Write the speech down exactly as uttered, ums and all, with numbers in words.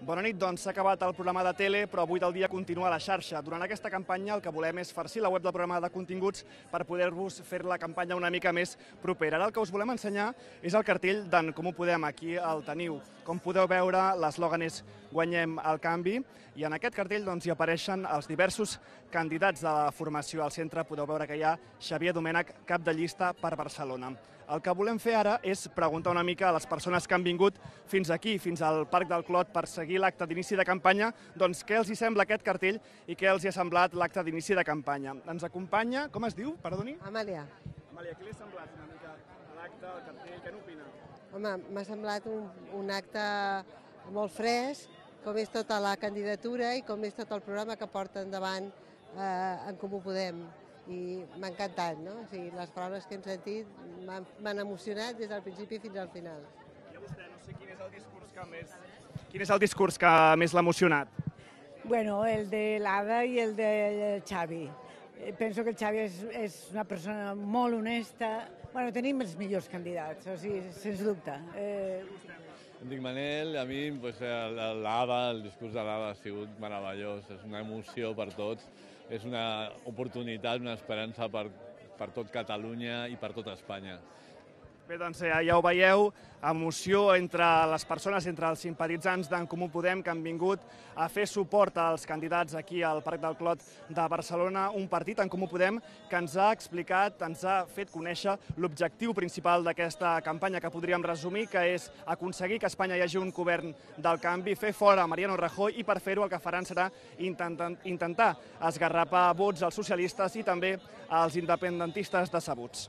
Bona nit, doncs s'ha acabat el programa de tele, però avui del dia continua a la xarxa. Durant aquesta campanya el que volem és farcir la web del programa de continguts per poder-vos fer la campanya una mica més propera. Ara el que us volem ensenyar és el cartell d'en Comú Podem, aquí el teniu. Com podeu veure, l'eslògan és Guanyem el canvi, i en aquest cartell doncs, hi apareixen els diversos candidats de la formació. Al centre podeu veure que hi ha Xavier Domènech, cap de llista per Barcelona. El que volem fer ara és preguntar una mica a les persones que han vingut fins aquí, fins al Parc del Clot, per seguir l'acte d'inici de campanya, doncs què els hi sembla aquest cartell i què els hi ha semblat l'acte d'inici de campanya. Ens acompanya, com es diu, perdoni? Amàlia. Amàlia, què li ha semblat una mica l'acte, el cartell, què n'opina? Home, m'ha semblat un, un acte molt fresc, com és tota la candidatura i com és tot el programa que porta endavant eh, en Comú Podem. I m'ha encantat, no? O sigui, les paraules que hem sentit m'han emocionat des del principi fins al final. I a vostè, no sé quin és el discurs que més, quin és el discurs que més l'ha emocionat? Bueno, el de l'Ada i el de Xavi. Penso que el Xavi és, és una persona molt honesta. Bueno, tenim els millors candidats, o sigui, sens dubte. Eh... Em dic Manel, a mi pues, l'Ada, el discurs de l'Ada ha sigut meravellós, és una emoció per tots, és una oportunitat, una esperança per, per tot Catalunya i per tot Espanya. Bé, doncs ja, ja ho veieu, emoció entre les persones, entre els simpatitzants d'en Comú Podem que han vingut a fer suport als candidats aquí al Parc del Clot de Barcelona, un partit, en Comú Podem, que ens ha explicat, ens ha fet conèixer l'objectiu principal d'aquesta campanya, que podríem resumir, que és aconseguir que a Espanya hi hagi un govern del canvi, fer fora Mariano Rajoy, i per fer-ho el que faran serà intentar, intentar esgarrapar vots als socialistes i també als independentistes decebuts.